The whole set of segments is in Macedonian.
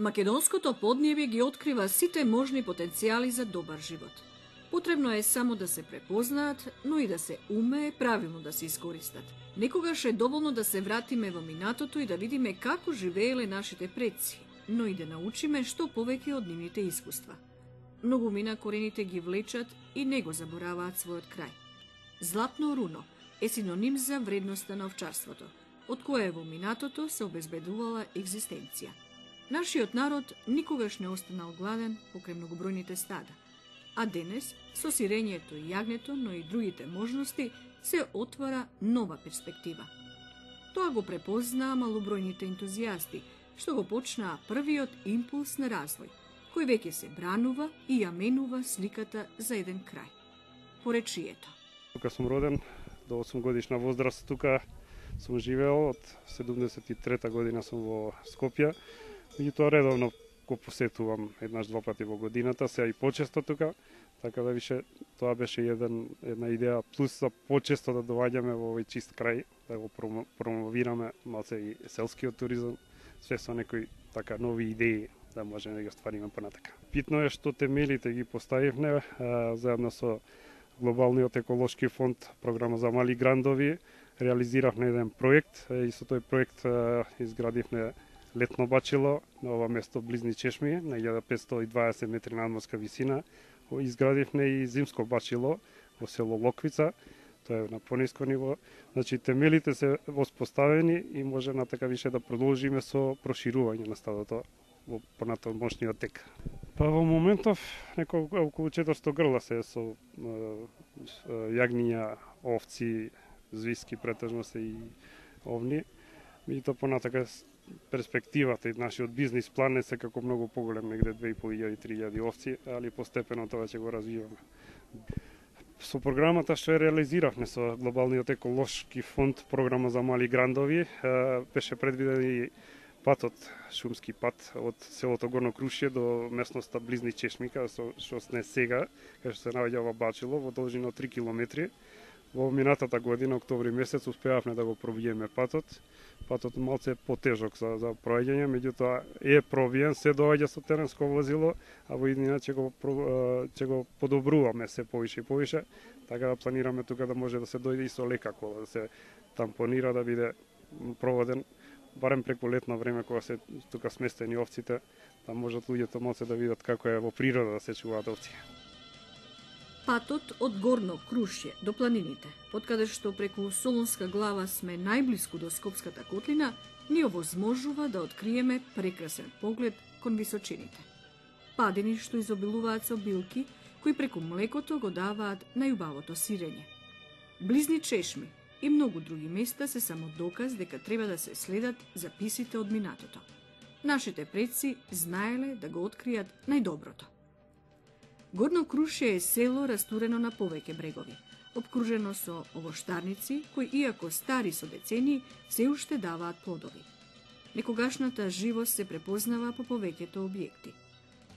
Македонското поднебје ги открива сите можни потенцијали за добар живот. Потребно е само да се препознаат, но и да се умее правилно да се искористат. Некогаш е доволно да се вратиме во минатото и да видиме како живееле нашите предци, но и да научиме што повеќе од нивните искуства. Многумина корените ги влечат и не го забораваат својот крај. Златно руно е синоним за вредноста на овчарството, од кое во минатото се обезбедувала екзистенција. Нашиот народ никогаш не останал гладен покрај многобројните стада, а денес, со сирењето и јагнето, но и другите можности, се отвара нова перспектива. Тоа го препознаа малобројните ентузијасти, што го почнаа првиот импулс на развој, кој веќе се бранува и ја менува сликата за еден крај. Поречието. Тука сум роден, до 8 годишна возраст тука сум живеел, од 73 година сум во Скопје. Меѓутоа редовно го посетувам еднаш-два пати во годината, сега и почесто тука, така да више тоа беше една идеја плюс за почесто да доаѓаме во овој чист крај, да го промовираме малце и селскиот туризам, све со некои така нови идеи да можеме да ги оствариме понатака. Битно е што темелите ги поставивме заедно со Глобалниот еколошки фонд, програма за мали грандови, реализиравме еден проект и со тој проект изградивме летно бачило на ова место Близни чешми на 1520 метри надморска висина. Изградивме и зимско бачило во село Локвица, тоа е на пониско ниво. Значи темелите се воспоставени и може на така више да продолжиме со проширување на стадото во понатамошниот тек. Па во моментов околу 400 грла се со јагниња, овци, звиски претежно се и овни. Меѓутоа понатака перспективата и нашиот бизнис план е секако многу поголем, негде 2500-3000 овци, али постепено тоа ќе го развиваме. Со програмата што ја реализиравме со Глобалниот еколошки фонд, програма за мали грандови, беше предвиден и патот, шумски пат од селото Горно Крушје до местноста Близни чешми, што сме сега, кај што се наоѓа ова бачило, во должина од 3 километри. Во минатата година, октомври месец, успеавме да го пробиеме патот. Патот малце потежок за проаѓање, меѓутоа е пробиен, се доаѓа со теренско возило, а во иднина ќе го подобруваме се повише и повише, така да планираме тука да може да се дојде и со лека кола, да се тампонира, да биде проводен барем преку летно време кога се тука сместени овците, да можат луѓето малце да видат како е во природа да се чуваат овци. Патот од Горно Крушје до планините, откаде што преку Солунска глава сме најблиску до Скопската котлина, ни овозможува да откриеме прекрасен поглед кон височините. Падини што изобилуваат со билки, кои преку млекото го даваат најубавото сирење. Близни чешми и многу други места се само доказ дека треба да се следат записите од минатото. Нашите предци знаеле да го откријат најдоброто. Горно Крушје е село растурено на повеќе брегови, обкружено со овоштарници кои, иако стари со децении, се уште даваат плодови. Некогашната живост се препознава по повеќето објекти.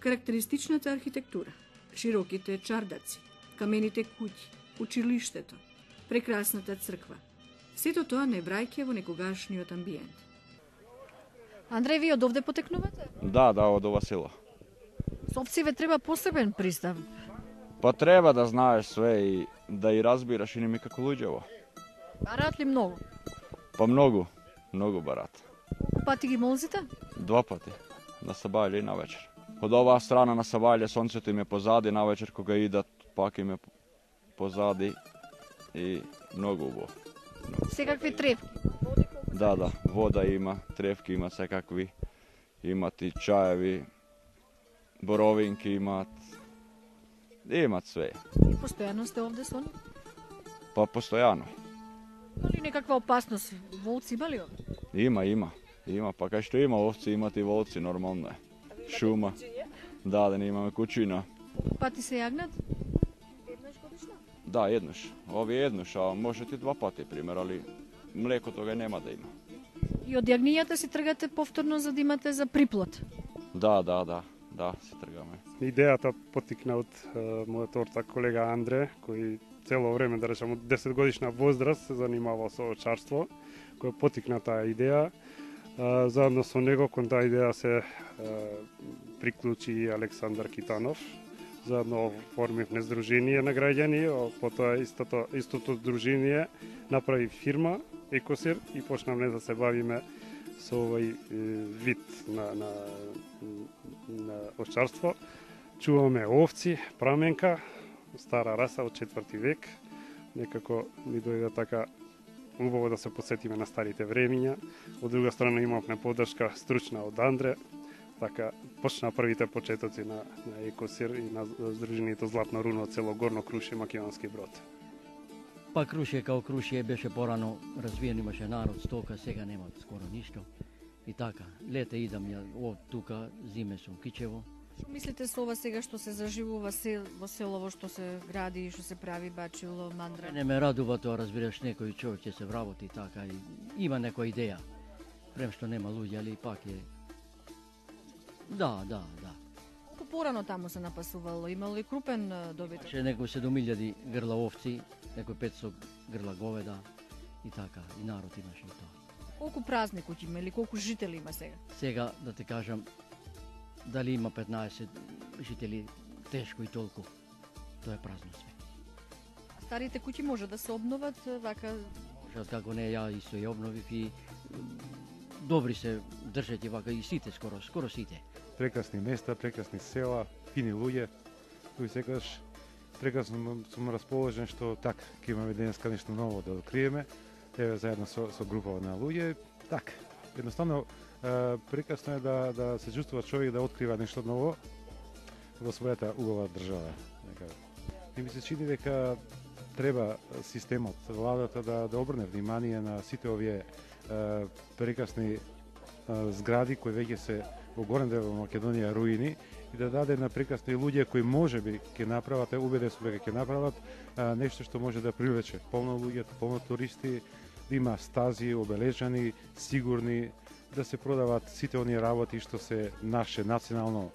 Карактеристичната архитектура, широките чардаци, камените куќи, училиштето, прекрасната црква. Сето тоа не враќа во некогашниот амбиент. Андреј, ви од овде потекнувате? Да, од ова село. Со овциве треба посебен пристав. Па треба да знаеш све и да и разбираш и ними како луѓево. Бараат ли многу? Па многу бараат. Колку пати ги молзите? 2 пати, на сабајле и на вечер. Од оваа страна на сабајле сонцето им е позади, на вечер кога идат пак им е позади и многу убаво. Секакви тревки? Да, вода има, тревки има секакви. Имат и чаеви, боровинки имат све. И постојано сте овде со нив? Па постојано. Дали некаква опасност? Волци има ли овде? Има. Па кај што има овци, имат и волци, нормално е. Шума. Да не имаме кучина. Пати се јагнат? Еднаш годишно? Да, еднаш. Овие еднаш, а може и 2 пати, пример, али млеко тога нема да има. И од јагнијата си тргате повторно за да имате за приплод? Да, се тргаме. Идејата потикна од мојот ортак колега Андре, кој цело време, да речем, од 10 годишна возраст се занимавал со овчарство, кој потикна таа идеја. Заедно со него кон таа идеја се приклучи и Александар Китанов. Заедно оформивме здружение на граѓани, потоа истото здружение направи фирма Екосир и почнавме да се бавиме со овој вид на овчарство. Чуваме овци, праменка, стара раса од 4 век. Некако ми дојде така убаво да се посетиме на старите времиња. Од друга страна имавме поддршка стручна од Андре. Така почна првите почетоци на Екосир и на здружението Златно руно цело Горно Крушје, Македонски Брод. Па Крушје као Крушје беше порано развиен, имаше народ, стока, сега нема скоро ништо. И така, лете идам ја од тука, зиме сум Кичево. Што мислите со ова сега што се заживува во селово, што се гради и што се прави Бачило, Мандра? Не ме радува тоа, разбираш, некој човек ќе се вработи така и има некоја идеја. Прем што нема луѓе, али пак е. Да. Колку порано таму се напасувало? Имало ли крупен добиток? Ше некој 7000 грла овци, некој 500 грла говеда и така, и народ имаше и тоа. Колку празни куќи има или колку жители има сега? Сега, да те кажам, дали има 15 жители, тешко и толку. Тоа е празно све. Старите куќи може да се обноват вака? Може, како не, ја исто ја обновив и добри се држат и вака и сите, скоро сите. Прекрасни места, прекрасни села, фини луѓе, кои секогаш прекрасно сум расположен што така ќе имаме денеска нешто ново да откриеме. Еве заедно со група на луѓе, така. Едноставно прекрасно е да се чувствува човек да открива нешто ново во својата убава држава. И ми се чини дека треба системот, владата да обрне внимание на сите овие прекрасни згради кои веќе се во горен дел во Македонија руини и да даде на прекрасни луѓе кои можеби ќе направат, убеден сум дека ќе направат нешто што може да привлече полно луѓе, полно туристи, да има стази обележани, сигурни, да се продават сите оние работи што се наше национално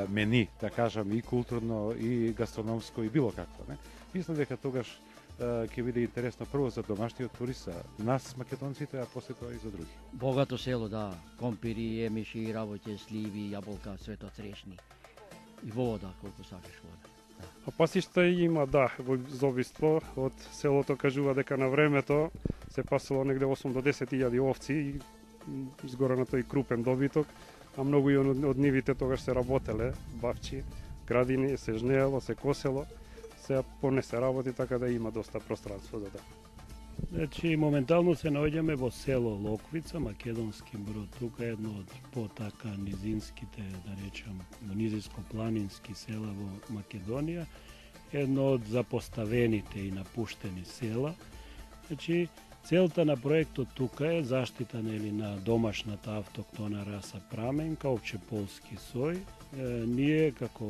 мени, да кажам, и културно, и гастрономско, и било какво. Не? Мислам дека тогаш ќе биде интересно прво за домашниот турист, нас македонците, а после тоа и за други. Богато село, да, компири, емиши, работе, сливи, јаболка, свето црешни. И вода, колку сакаш вода. Да. А пасишта има, да, во завиство од селото кажува дека на времето се пасало негде 8 до 10.000 овци и згора на тој крупен добиток, а многу и од нивите тогаш се работеле, бавчи, градини, се жнеело, се косело, се понесе работи, така да има доста пространство за тоа. Значи, моментално се наоѓаме во село Локвица, Македонски Брод. Тука е едно од потака низинските, да речам, низинско-планински села во Македонија, едно од запоставените и напуштени села. Значи, целта на проектот тука е заштита на домашната автоктона раса праменка, опчеполски сој. Ние како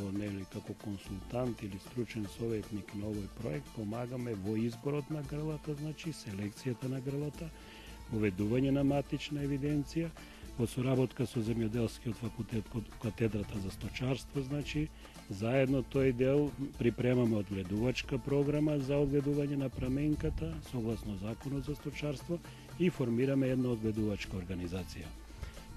консултант или стручен советник на овој проект помагаме во изборот на грлата, значи селекцијата на грлата, воведување на матична евиденција, во соработка со земјоделскиот факултет под катедрата за сточарство, значи заедно тој дел припремаме одгледувачка програма за одгледување на праменката согласно законот за сточарство и формираме една одгледувачка организација.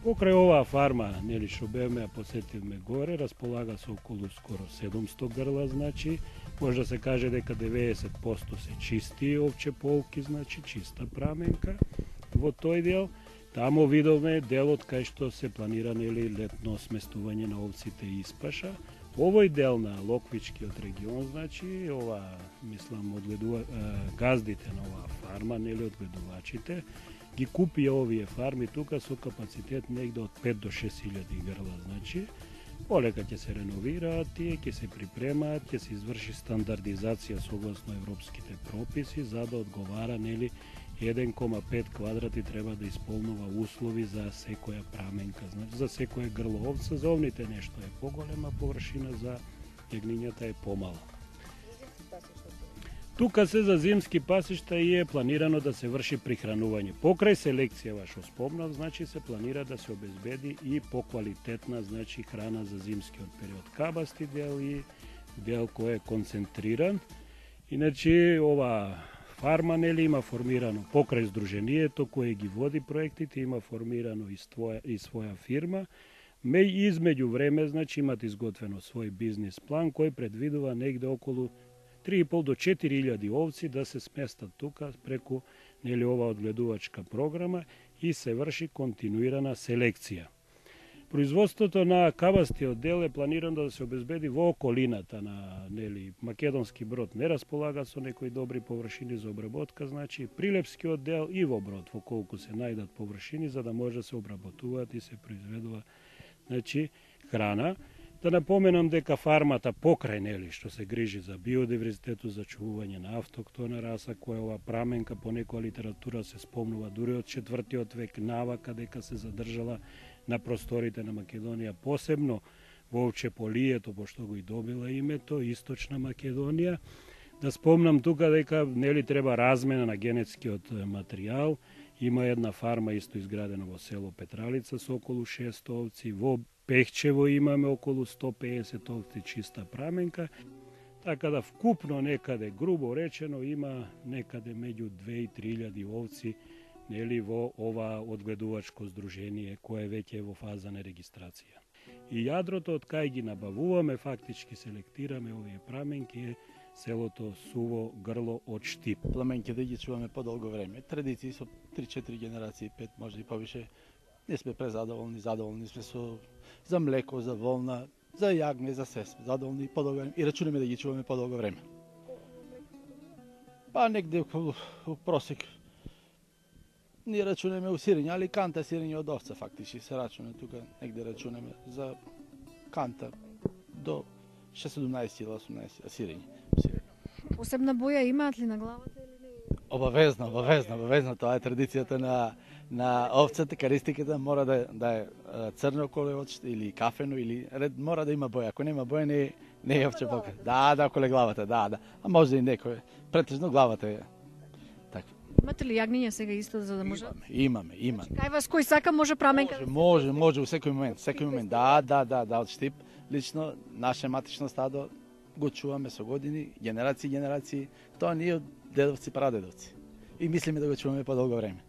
Покрај оваа фарма, што бевме, посетивме горе, располага со околу скоро 700 грла, значи, може да се каже дека 90% се чисти овче полки, значи, чиста праменка во тој дел. Тамо видовме делот кај што се планира летно сместување на овците и испаша. Овој дел на Локвичкиот регион, значи, мислам, газдите на оваа фарма, одгледувачите, ги купија овие фарми тука со капацитет негде од 5 до 6.000 грла, значи полека ќе се реновираат тие, ќе се припремаат, ќе се изврши стандардизација согласно европските прописи за да одговара, нели, 1,5 квадрати треба да исполнува услови за секоја праменка, значи за секоја грло овца, за овните нешто е поголема површина, за јагнињата е помала. Тука се за зимски пасишта и е планирано да се врши прихранување. Покрај селекција, што спомнав, значи се планира да се обезбеди и поквалитетна, значи, храна за зимскиот период. Кабасти дел и дел кој е концентриран. Иначе ова фарма, нели, има формирано покрај здруженијето кое ги води проектите, има формирано и своја фирма. Измеѓу време, значи, имат изготвено свој бизнис план кој предвидува негде околу 3,5 до 4.000 овци да се сместат тука преку, нели, ова одгледувачка програма и се врши континуирана селекција. Производството на кабастиот дел е планирано да се обезбеди во околината на, нели, Македонски Брод не располага со некои добри површини за обработка, значи Прилепскиот дел и во Брод, во колку се најдат површини за да може да се обработуваат и се произведува, значи, храна. Да напоменам дека фармата покрај, нели, што се грижи за биодиверзитетот, за чувување на автоктона раса, која ова праменка по некоја литература се спомнува дури од 4. век навака дека се задржала на просторите на Македонија, посебно во Овчеполието, пошто го и добила името, Источна Македонија. Да спомнам тука дека, нели, треба размена на генетскиот материјал. Има една фарма исто изградена во село Петралица со околу 600 овци, во Пехчево имаме околу 150 овци чиста праменка, така да вкупно некаде, грубо речено, има некаде меѓу 2 и 3.000 овци, нели, во ова одгледувачко здружение кое веќе е во фаза на регистрација. И јадрото од кај ги набавуваме, фактички селектираме овие праменки е селото Суво Грло од Штип. Пламенки да ги чуваме подолго време. Традиции со 3-4 генерации, 5, може и повише. Не сме презадоволни, задоволни сме за млеко, за волна, за јагне, за се сме задоволни подолго време и рачунаме да ги чуваме подолго време. Па негде у просек ние рачунаме у сирење, али канта сирење од овца фактички се рачуна тука, негде рачунаме за канта до 17 или 18 сирење. Посебна боја имаат ли на главата или не? Обавезно, тоа е традицијата на овцата, каристиката мора да е црно колеочте или кафено или мора да има боја. Ако нема боја не е овче пока. Да, околе главата, да. А може и некој. Претежно главата е така. Имате ли јагниња сега исто за да може? Имаме. Кај вас кој сака може праменка? Може у секој момент. Да, од Штип. Лично наше матично стадо го чуваме со години, генерации, тоа ние од дедовци, прадедовци. И мислиме да го чуваме подолго време.